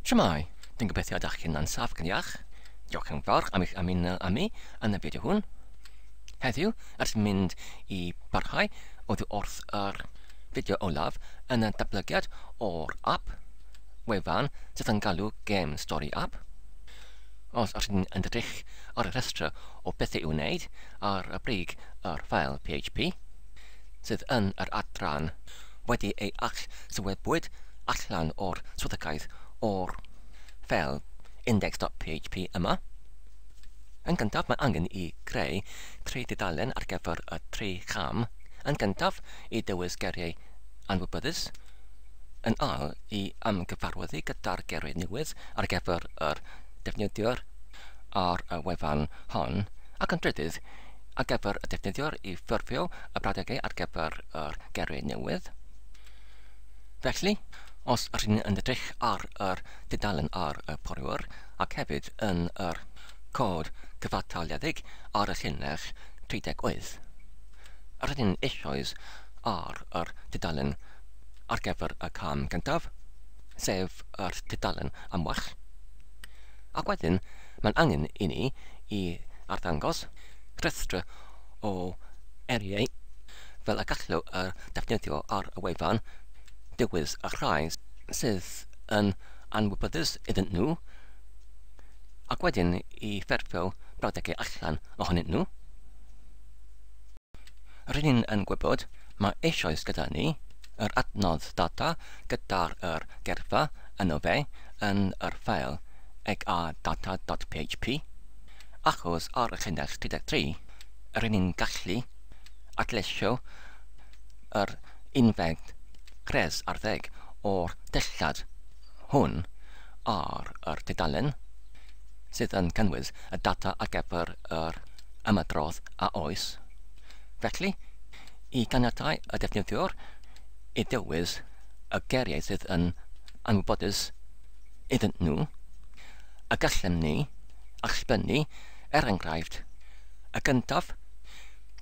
Shwmae! Dwi'n gobeithio ydych chi'n saff ac yn iach. Diolch yn fawr am eich ymuno â mi yn y fideo hwn. Heddiw, ers mynd i barhau oddi wrth yr fideo olaf yn y datblygiad o'r app wefan sydd yn galw Game Story App. Os ydych chi'n edrych ar y rhestr o bethau i'w wneud ar y brig yr ffael PHP sydd yn yr adran wedi ei allsywebwyd allan o'r swyddogaeth o'r ffeil index.php yma. Yn gyntaf, mae angen i greu tri dudalen ar gyfer y tri cham. Yn gyntaf, i dewis geiriau anwybyddus. Yn ail, i ymgyfarwyddu gyda'r geiriau newydd ar gyfer yr defnyddiwr ar y wefan hon. Ac yn drydydd, ar gyfer y defnyddiwr i ffurfio y brawddegau ar gyfer yr geiriau newydd. Felly, os ydych chi'n yn edrych ar yr dudalen ar y porwr ac hefyd yn yr cod cyfataliedig ar y llinell 38, rydyn eisoes ar yr tudalen ar gyfer y cam gyntaf, sef yr tudalen amwell. Ac wedyn, mae'n angen i ni i arddangos rhestr o eiriau fel y gallu y defnyddio ar y wefan dewis y rhai sydd yn anwybyddus iddyn nhw, ac wedyn i ffurfio brawddegau allan ohonyn nhw. Rydyn yn gwybod mae eisoes gyda ni yr adnodd data gyda'r yr gerfa yno fe yn yr ffeil egadata.php, achos ar y llinell 33 rydyn ni'n gallu adleisio yr unfed rhes ar ddeg o'r dillad hwn ar yr tudalen sydd yn cynnwys y data ar gyfer yr ymadrodd a oes. Felly, i ganiatáu y defnyddiwr i ddewis y geiriau sydd yn anwybodus iddyn nhw, y gallem ni allbynnu, er enghraifft, y gyntaf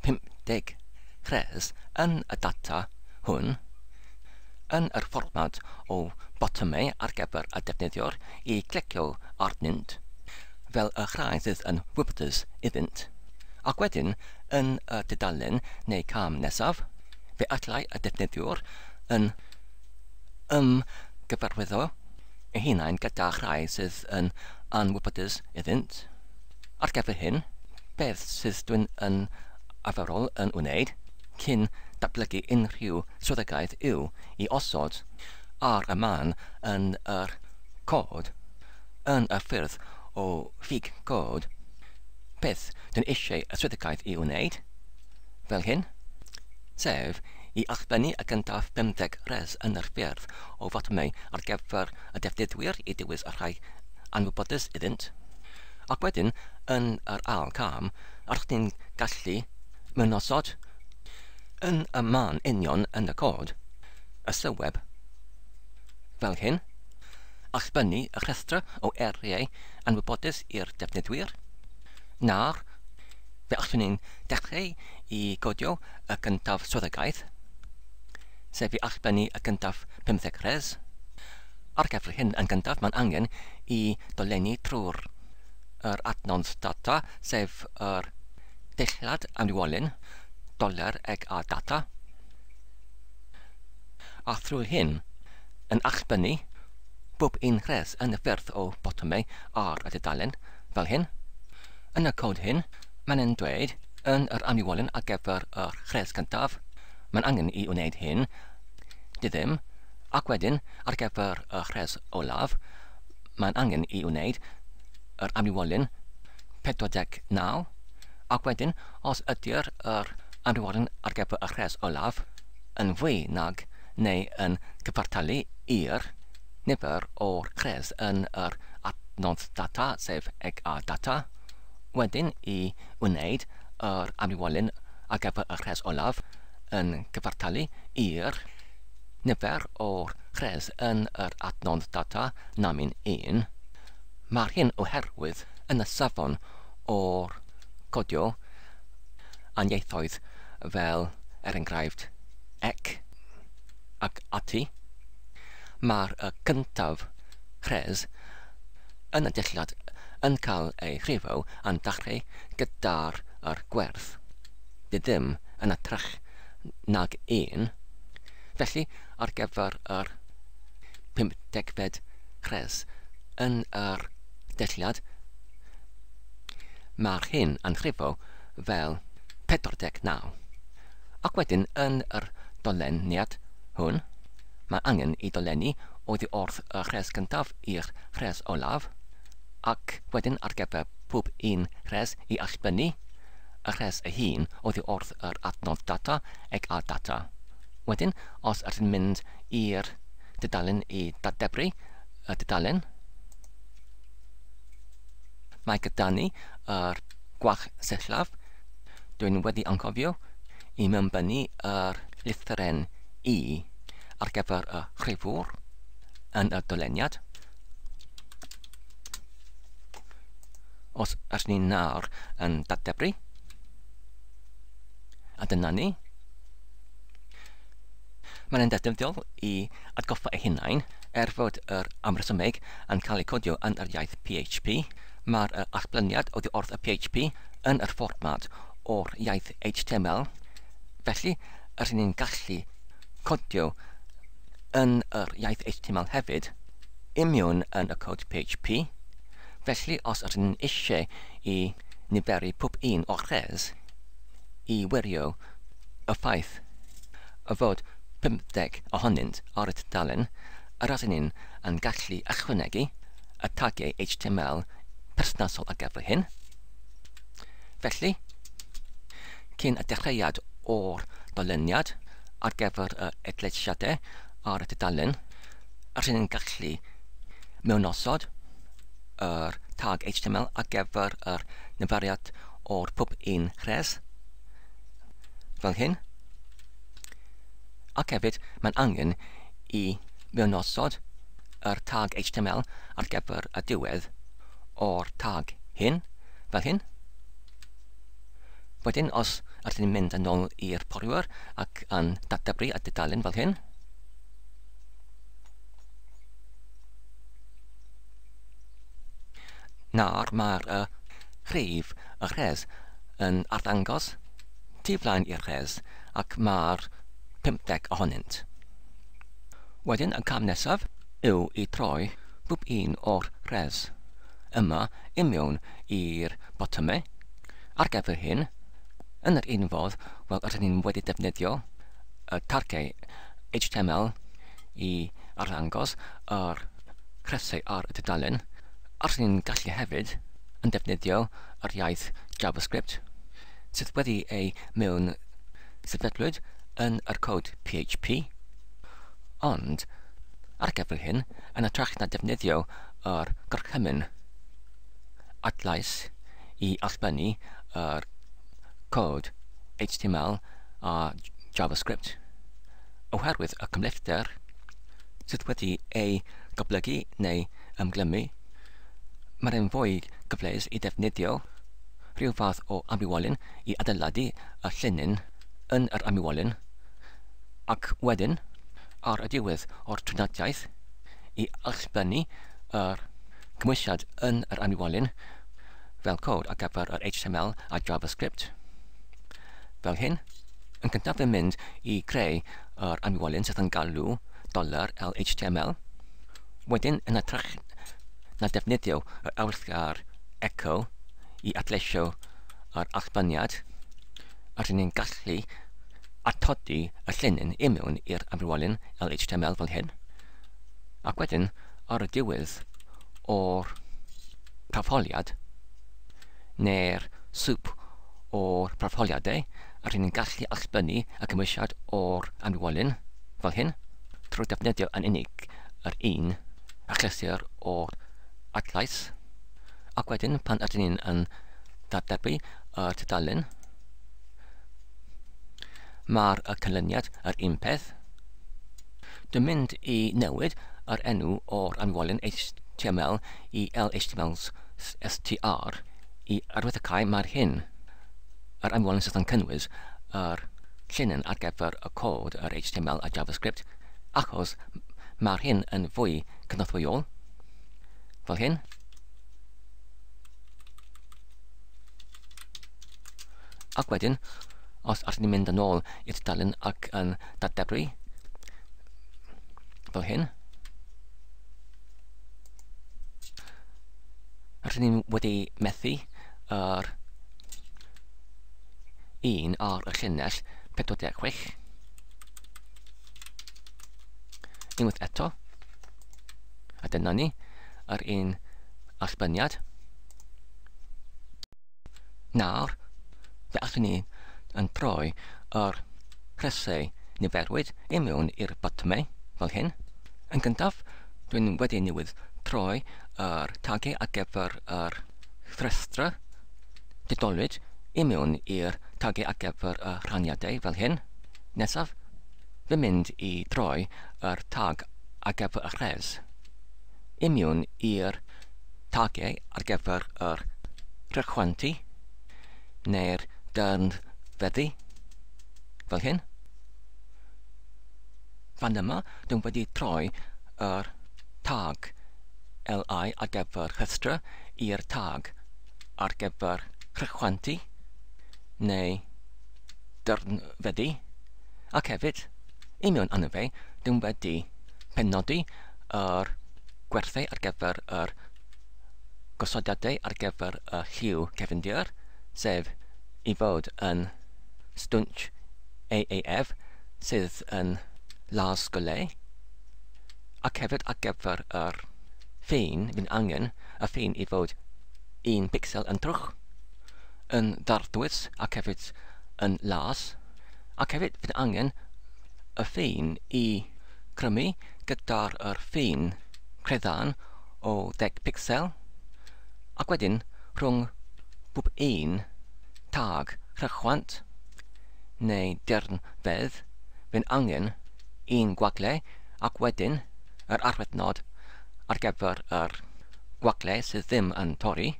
50 rhes yn y data hwn yn yr fformat o botymau ar gyfer y defnyddiwr i clicio arnynt fel y rhai sydd yn wybodus iddynt. Ac wedyn, yn y tudalen neu cam nesaf, fe allai y defnyddiwr yn ymgyfarwyddo ei hunain gyda rhai sydd yn anwybodus iddynt. Ar gyfer hyn, beth sydd dwi'n yn arferol yn wneud cyn datblygu unrhyw swyddogaeth yw i osod ar y man yn yr cod yn y ffyrdd o ffug cod beth dwi'n eisiau y swyddogaeth i wneud, fel hyn, sef i allbynnu y gyntaf 50 rhes yn yr ffyrdd o fotymau ar gyfer y defnyddwyr i dewis y rhai anwybodus iddynt. Ac wedyn, yn yr ail cam, rydych chi'n gallu mynosod yn y man union yn y cod y sylweb fel hyn, allbynnu y rhestr o eiriau anwybodus i'r defnyddwyr. Nawr, fe allwn ni'n dechrau i godio y gyntaf swyddogaeth, sef i allbynnu y gyntaf 50 rhes. Ar gyfer hyn yn gyntaf, mae'n angen i dolenni trwy'r yr adnodd data, sef yr dillad amrywiolyn doler eg a data. A thrwy hyn, yn allbynnu bob un rhes yn y ffyrdd o botymau ar y dudalen, fel hyn. Yn y cod hyn, mae'n yn dweud yn yr amrywiolyn ar gyfer y rhes cyntaf, mae'n angen i wneud hyn, diddim, ac wedyn ar gyfer y rhes olaf, mae'n angen i wneud yr amrywiolyn 49, ac wedyn os ydy'r yr amrywiolyn ar gyfer y rhes olaf yn fwy nag neu yn cyfartalu i'r nifer o'r rhes yn yr adnodd data, sef eg a data, wedyn i wneud yr amrywiolyn ar gyfer y rhes olaf yn cyfartalu i'r nifer o'r rhes yn yr adnodd data namyn 1. Mae'r hyn oherwydd yn y safon o'r codio anieithoedd fel er enghraifft ec ac ati, mae'r y cyntaf rhes yn y dillad yn cael ei rhifo a'n dechrau gyda'r yr gwerth ddim yn hytrach nag 1. Felly, ar gyfer yr 50fed rhes yn yr dillad, mae'r hyn yn rhifo fel 49. Ac wedyn yn yr doleniad hwn, mae angen i dolenni oddi wrth y rhes gyntaf i'r rhes olaf, ac wedyn ar gyfer pob un rhes i allbynnu y rhes ei hun oddi wrth yr adnodd data ag a data. Wedyn, os ydyn mynd i'r dudalen i dadebru y dudalen, mae gyda ni yr gwach sillaf. Dwi'n wedi anghofio i mewnbynnu yr lythyren I ar gyfer y rhifwr yn y doleniad. Os ydyn ni nawr yn dadebru, a dyna ni. Mae'n ddefnyddiol i atgoffa eu hunain, er fod yr amresymeg yn cael ei codio yn yr iaith PHP, mae'r allblyniad oddi wrth y PHP yn yr fformat o'r iaith HTML. Felly, rydyn ni'n gallu codio yn yr iaith HTML hefyd, imiwn yn y cod PHP. Felly, os ydyn ni'n eisiau i niferu pob un o'r rhes i wirio y ffaith y fod 50 ohonynt ar y tudalen, yr ydyn ni'n yn gallu ychwanegu y tagiau HTML perthnasol ar gyfer hyn. Felly, cyn y dechreuad o'r doleniad ar gyfer y edlesiadau ar y tudalen, rydyn ni'n gallu mewnosod yr tag HTML ar gyfer yr niferiad o'r pob un rhes, fel hyn. Ac hefyd, mae'n angen i mewnosod yr tag HTML ar gyfer y diwedd o'r tag hyn, fel hyn. Wedyn, os ydyn ni'n mynd yn ôl i'r porwyr ac yn dadebru y dudalen fel hyn, nawr mae'r rhif y rhes yn arddangos tu flaen i'r rhes ac mae'r 50 ohonynt. Wedyn, y cam nesaf yw i troi pob un o'r rhes yma i mewn i'r botymau. Ar gyfer hyn, yn yr un fodd, wel, rydyn ni'n wedi defnyddio y targau HTML i arddangos yr rhesau ar y tudalen, a rydyn ni'n gallu hefyd yn defnyddio yr iaith JavaScript sydd wedi ei mewn sefydlwyd yn yr cod PHP. Ond, ar gyfer hyn, yn hytrach na defnyddio yr gorchymyn adlais i allbynnu yr cod HTML a JavaScript, oherwydd y cymhlethder sydd wedi ei goblygu neu ymglymu, mae'n fwy cyfleus i defnyddio rhyw fath o amrywolyn i adeiladu y llinyn yn yr amrywolyn, ac wedyn, ar y diwedd o'r triniaeth, i allbynnu yr cymwysiad yn yr amrywolyn fel cod ar gyfer yr HTML a JavaScript. Fel hyn, yn gyntaf yn mynd i creu yr amrywolyn sydd yn galw $LHTML. Wedyn, yn hytrach na defnyddio yr awyrgar echo i adleisio yr allbyniad, rydyn ni'n gallu atodi y llinyn i mewn i'r amrywolyn LHTML fel hyn. Ac wedyn, ar y diwedd o'r prafholiad, neu'r sŵp o'r prafholiadau, rydyn ni'n gallu allbynnu y cymwysiad o'r amrywolyn fel hyn, trwy defnyddio yn unig yr un achlysur o'r adlais. Ac wedyn, pan ydyn ni'n yn dadebru y tudalen, mae'r canlyniad yr un peth. Dwi'n mynd i newid yr enw o'r amrywolyn HTML i LHTML STR i arwyddocau mae'r hyn yr amrywolyn sydd yn cynnwys yr llinyn ar gyfer y cod yr HTML a JavaScript, achos mae'r hyn yn fwy cynorthwyol, fel hyn. Ac wedyn, os allwn ni mynd yn ôl i'r tudalen ac yn dadebru fel hyn, rydyn ni wedi methu yr un ar y llinell 46. Unwaith eto, a dyna ni, yr un allbyniad. Nawr, fe allwn ni yn troi yr rhesau niferwyd i mewn i'r botymau, fel hyn. Yn gyntaf, dwi'n wedi newydd troi yr tagiau ar gyfer yr rhestr didolwyd i mewn i'r tagiau ar gyfer y rhaniadau, fel hyn. Nesaf, fi'n mynd i droi yr tag ar gyfer y rhes i mewn i'r tagiau ar gyfer yr rhychwantu neu'r dyrnfeddu, fel hyn. Fan yma, dwi'n wedi troi yr tag LI ar gyfer rhestr i'r tag ar gyfer rhychwantu neu dyrnfeddu, ac hefyd, i mewn arno fe, dwi'n wedi penodi yr gwerthau ar gyfer yr gosodiadau ar gyfer y lliw cefndir, sef i fod yn stwnsh AAF sydd yn las golau, ac hefyd ar gyfer yr ffin, fi'n angen y ffin i fod 1 pixel yn trwch, yn ddarddwys ac hefyd yn las, ac hefyd fi'n angen y ffin i crymu gyda'r yr ffin creddan o 10 pixel, ac wedyn rhwng pob un tag rhychwant neu dyrnfedd, fi'n angen un gwagle ac wedyn yr arwyddnod ar gyfer yr gwagle sydd ddim yn torri,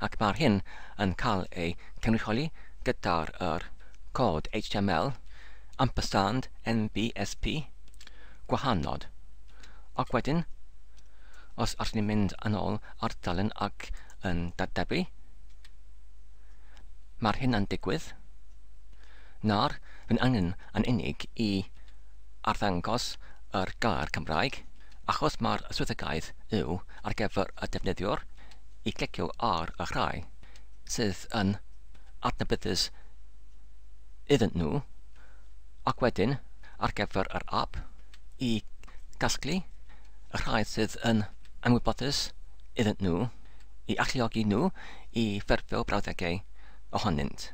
ac mae'r hyn yn cael ei cynrychioli gyda'r yr cod HTML ampersand NBSP gwahanod. Ac wedyn, os allwn ni mynd yn ôl ar dalen ac yn dadebu, mae'r hyn yn digwydd. Nawr, fi'n angen yn unig i arddangos yr gair Cymraeg, achos mae'r swyddogaeth yw ar gyfer y defnyddiwr i clicio ar y rhai sydd yn adnabyddus iddyn nhw, ac wedyn ar gyfer yr app i gasglu y rhai sydd yn anwybodus iddyn nhw, i alluogi nhw i ffurfio brawddegau ohonynt.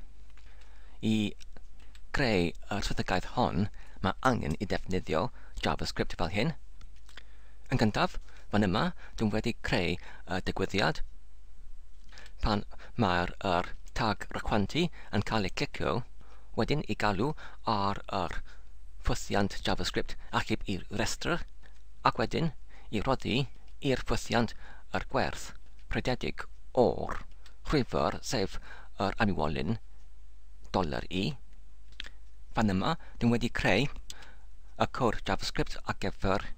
I greu y swyddogaeth hon, mae angen i ddefnyddio JavaScript fel hyn. Yn gyntaf, fan yma, dwi'n wedi creu y digwyddiad pan mae'r yr tag rhychwantu yn cael ei clicio, wedyn i galw ar yr ffwythiant JavaScript achub i restr, ac wedyn i roddi i'r ffwythiant yr gwerth rhededig o'r rhwyfr, sef yr amywolyn $i. Fan yma, dwi'n wedi creu y cod JavaScript ar gyfer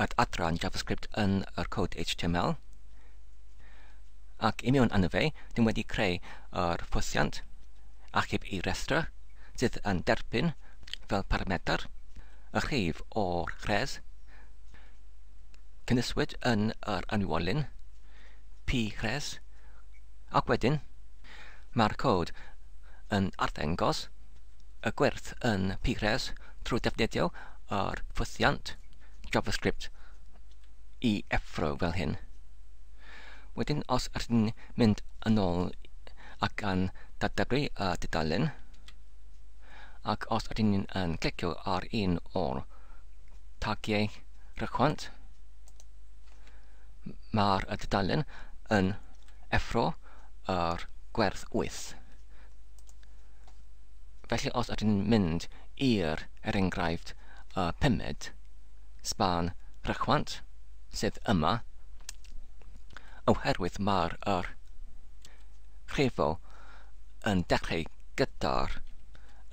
yr adran JavaScript yn yr cod HTML. Ac i mewn arno fe, dwi'n wedi creu yr ffwythiant achub i restr sydd yn derbyn fel parametr y rhif o'r rhes cynhwyswyd yn yr anwolyn p rhes, ac wedyn mae'r cod yn arddangos y gwerth yn p rhes trwy defnyddio yr ffwythiant JavaScript i effro fel hyn. Wedyn, os ydyn ni'n mynd yn ôl ac yn dadebru y dudalen, ac os ydyn ni'n yn clicio ar un o'r tagiau rhychwant, mae'r dudalen yn effro yr gwerth 8. Felly os ydyn ni'n mynd i'r, er enghraifft, y pumed span rhychwant sydd yma, oherwydd mae'r yr rhifo yn dechrau gyda'r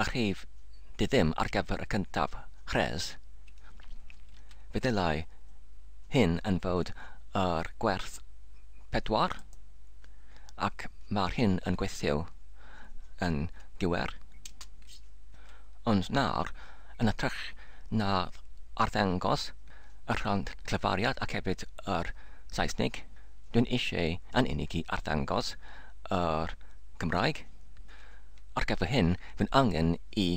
y rhif diddim ar gyfer y cyntaf rhes, fe ddylai hyn yn fod yr gwerth 4, ac mae'r hyn yn gweithio yn gywir. Ond nawr, yn hytrach na arddangos y rhan llefariad ac hefyd yr Saesneg, dwi'n eisiau yn unig i arddangos yr Gymraeg. Ar gyfer hyn, fy'n angen i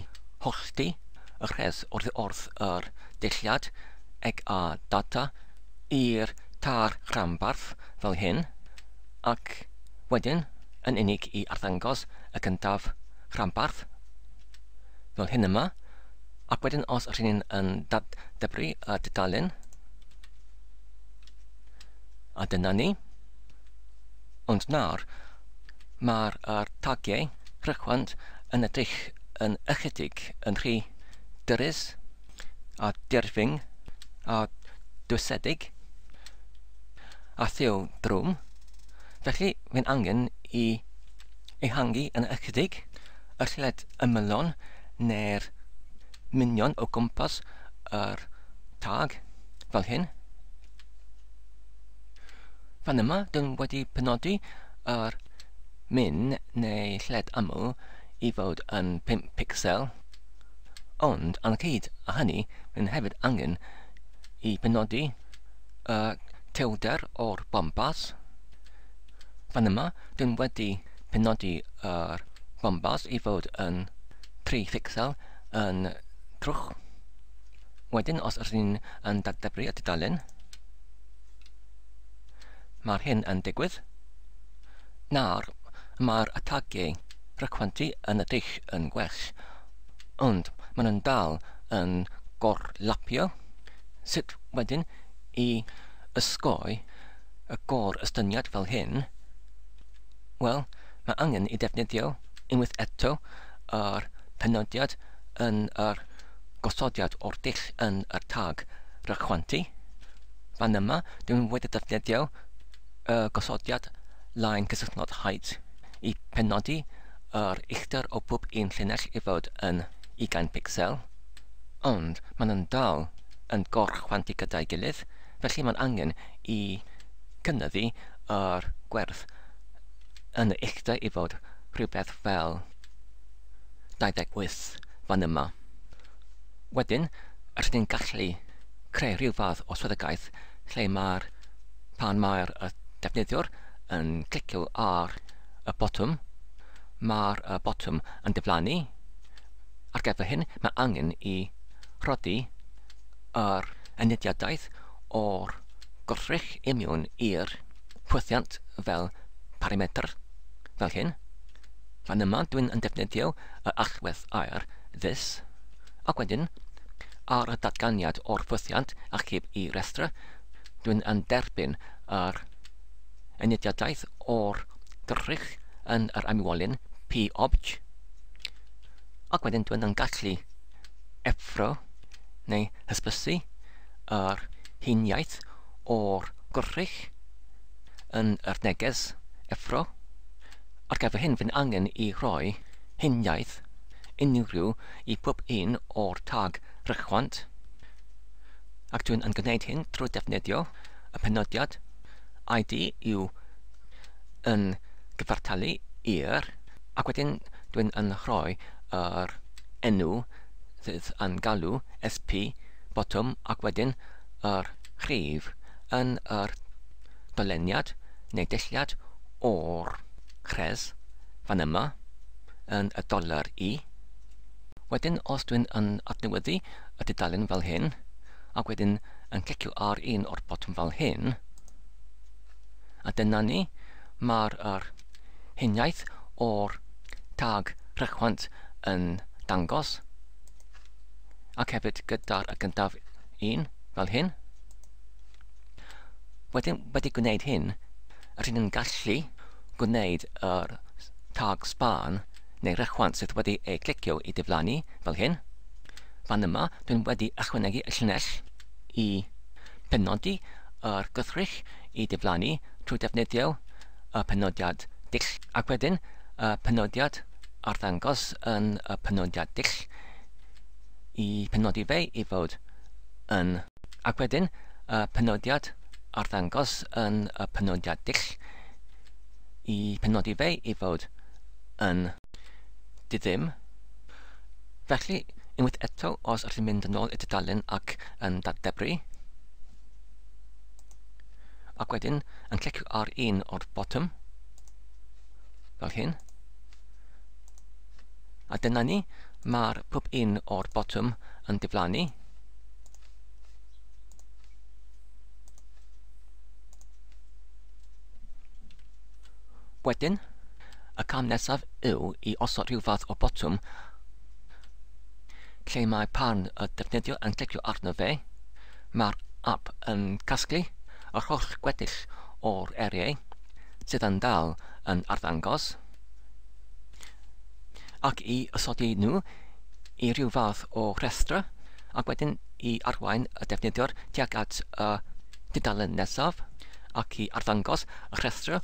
hollti y rhes oddi wrth yr dulliad ag a data i'r tar rhanbarth fel hyn, ac wedyn yn unig i arddangos y cyntaf rhanbarth fel hyn yma, ac wedyn os ydyn ni'n yn datdebru y dudalen, a dyna ni. Ond nawr, mae'r tagiau rhychwant yn edrych yn ychydig yn rhy dyrys a dirfyng a dwysedig a thiw drwm. Felly, mae'n angen i ehangu yn ychydig y lled ymylon neu'r minion o gwmpas yr tag fel hyn. Fan yma, dyn wedi penodi yr min neu lled ymyl i fod yn 5 pixel, ond yn cyd â hynny, mae'n hefyd angen i penodi y tewder o'r bombas. Fan yma, dyn wedi penodi yr bombas i fod yn 3 pixel yn trwch. Wedyn, os ydyn ni'n yn datdebru y tudalen, mae'r hyn yn digwydd. Nawr, mae'r atagiau rhychwantu yn edrych yn gwell, ond maen nhw'n dal yn gorlapio. Sut wedyn i ysgoi y gor-ystyniad fel hyn? Wel, mae angen i defnyddio unwaith eto yr penodiad yn yr gosodiad o'r dull yn yr tag rhychwantu. Fan yma, dwi'n wedi defnyddio y gosodiad line cysylltnod height i penodi yr uchder o bob un llinell i fod yn 20 pixel, ond maen nhw'n dal yn gorchwantu gyda'i gilydd, felly mae'n angen i cynyddu yr gwerth yn y uchder i fod rhywbeth fel 28 fan yma. Wedyn, rydyn ni'n gallu creu rhyw fath o swyddogaeth lle mae'r pan mae'r defnyddiwr yn clicio ar y botwm, mae'r botwm yn diflannu. Ar gyfer hyn, mae angen i rhoddi yr enediadaeth o'r gwrthrych imiwn i'r pwythiant fel parametr, fel hyn. Fan yma, dwi'n yn defnyddio y allwedd air this, ac wedyn, ar y datganiad o'r ffwythiant achub i restr, dwi'n yn derbyn yr enediadaeth o'r drych yn yr amywolyn p-obj, ac wedyn dwi'n yn gallu effro neu hysbysu yr huniaeth o'r gwrthrych yn yr neges effro. Ar gyfer hyn, fy'n angen i rhoi huniaeth unrhyw i pob un o'r tag rhychwant, ac dwi'n yn gwneud hyn trwy defnyddio y penodiad ID yw yn gyfartalu i'r, ac wedyn dwi'n yn rhoi yr enw sydd yn galw SP botwm ac wedyn yr rhif yn yr doleniad neu dulliad o'r rhes fan yma yn y dolar i. Wedyn, os dwi'n yn adnewyddu y dudalen fel hyn, ac wedyn yn clicio ar un o'r botwm fel hyn, a dyna ni, mae'r yr huniaeth o'r tag rhychwant yn dangos, ac hefyd gyda'r gyntaf un fel hyn. Wedyn, wedi gwneud hyn, rydyn ni'n gallu gwneud yr tag span neu rhychwant sydd wedi ei clicio i diflannu fel hyn. Fan yma, dwi'n wedi ychwanegu y llinell i penodi yr gwrthrych i diflannu trwy defnyddio y penodiad dull, ac wedyn y penodiad arddangos yn y penodiad dull i penodi fe i fod yn, ac wedyn y penodiad arddangos yn y penodiad dull i penodi fe i fod yn. Di ddim. Felly, unwaith eto, os ydych chi'n mynd yn ôl i tudalen ac yn dadebru, ac wedyn yn clicio ar un o'r botwm, fel hyn, a dyna ni, mae'r pob un o'r botwm yn diflannu. Wedyn, y cam nesaf yw i osod rhyw fath o botwm lle mae pan y defnyddio yn clicio arno fe, mae'r app yn casglu yr holl gweddill o'r eiriau sydd yn dal yn arddangos ac i osodi nhw i ryw fath o rhestr ac wedyn i arwain y defnyddiwr tuag at y dudalen nesaf ac i arddangos y rhestr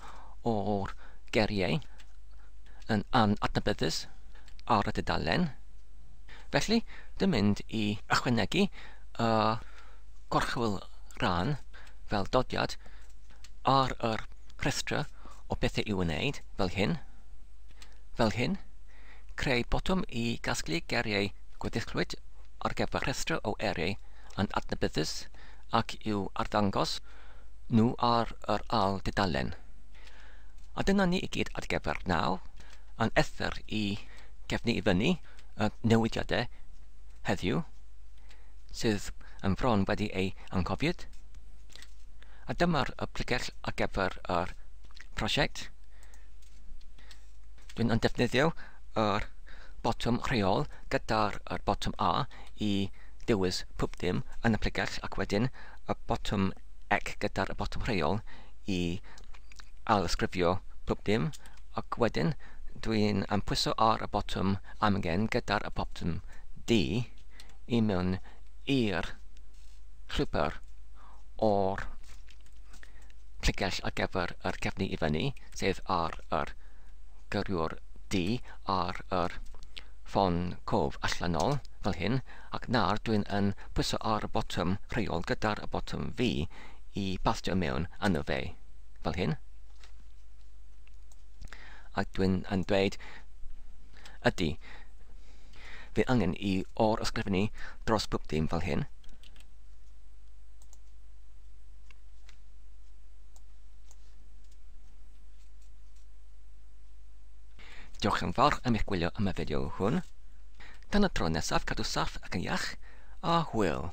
o'r geiriau yn anadnabyddus ar y dudalen. Felly, dwi'n mynd i ychwanegu y gorchwyl rhan fel dodiad ar yr rhestr o bethau i'w wneud, fel hyn. Fel hyn, creu botwm i gasglu geiriau gweddillwyd ar gyfer rhestr o eiriau yn adnabyddus ac i'w arddangos nhw ar yr ail dudalen. A dyna ni i gyd ar gyfer nawr, yn ether i gefnu i fyny y newidiadau heddiw, sydd yn bron wedi ei anghofiad. A dyma'r y pligell ar gyfer yr prosiect. Dwi'n yn defnyddio yr botwm rheol gyda'r yr botwm A i dewis pob dim yn y pligell ac wedyn y botwm C gyda'r botwm rheol i ailysgrifio pob dim ac wedyn dwi'n yn pwyso ar y botwm amgen gyda'r y botwm D i mewn i'r llwybr o'r pligell ar gyfer yr cefnu i fyny, sef ar yr gyrrwr D ar yr ffon cof allanol, fel hyn, ac nawr dwi'n yn pwyso ar y botwm rheol gyda'r y botwm V i bastio mewn arno fe, fel hyn. Ac dwi'n yn dweud, ydy, fi angen i o'r ysgrifennu dros bob dim fel hyn. Diolch yn fawr am eich gwylio am y fideo hwn. Tan y tro nesaf, cadw saff ac yn iach, a hwyl.